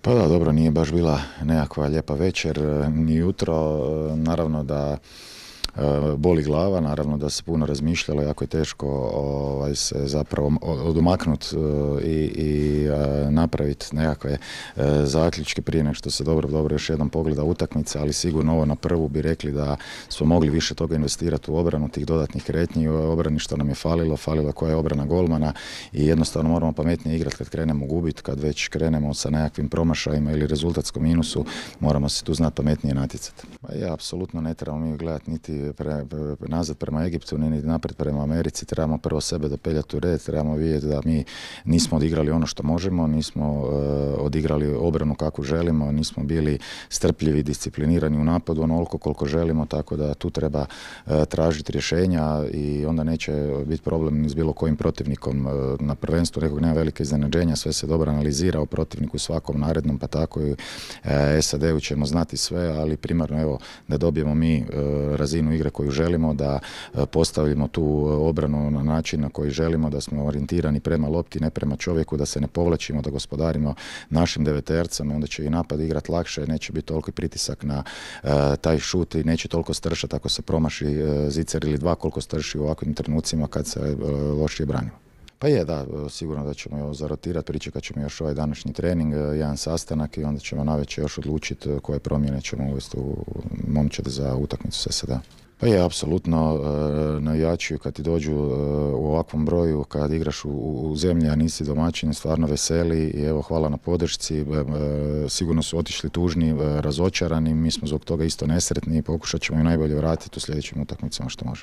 Pa da, dobro, nije baš bila nekakva lijepa večer, ni jutro, naravno da boli glava, naravno da se puno razmišljalo, jako je teško se zapravo odumaknuti i napraviti nekakve zaključke prije nego što se dobro još jednom pogleda utakmica, ali sigurno ovo na prvu bi rekli da smo mogli više toga investirati u obranu, tih dodatnih kretnji, u obrani što nam je falilo koja je obrana golmana i jednostavno moramo pametnije igrati kad krenemo gubiti, kad već krenemo sa nekakvim promašajima ili rezultatskom minusu, moramo se tu znati pametnije natjecati. Pa ja, apsolutno ne trebamo mi gledati niti nazad prema Egiptu, ni naprijed prema Americi, trebamo prvo sebe dopeljati u red, trebamo vidjeti da mi nismo odigrali ono što možemo, nismo odigrali obranu kakvu želimo, nismo bili strpljivi, disciplinirani u napadu onoliko koliko želimo, tako da tu treba tražiti rješenja i onda neće biti problem ni s bilo kojim protivnikom na prvenstvu, nekog nema velike iznenađenja, sve se dobro analizira o protivniku svakom narednom, pa tako i SAD-u ćemo znati sve, ali primarno evo da dobijemo mi razinu igre koju želimo, da postavimo tu obranu na način na koji želimo, da smo orijentirani prema lopti, ne prema čovjeku, da se ne povlačimo, da gospodarimo našim devetercem, onda će i napad igrati lakše, neće biti toliki pritisak na taj šut i neće toliko stršati ako se promaši zicer ili dva, koliko strši u ovakvim trenucima kad se lošije branimo. Pa je, da, sigurno da ćemo zarotirati, pričekat ćemo još ovaj današnji trening, jedan sastanak i onda ćemo navečer još odlučiti koje promjene ćemo uvesti u momčad za utakmicu s SAD. Pa je, apsolutno, navijači kad ti dođu u ovakvom broju, kad igraš u zemlji, a nisi domaćin, stvarno veseli i evo, hvala na podršci, sigurno su otišli tužni, razočarani, mi smo zbog toga isto nesretni i pokušat ćemo i najbolje vratiti u sljedećim utakmicama što možemo.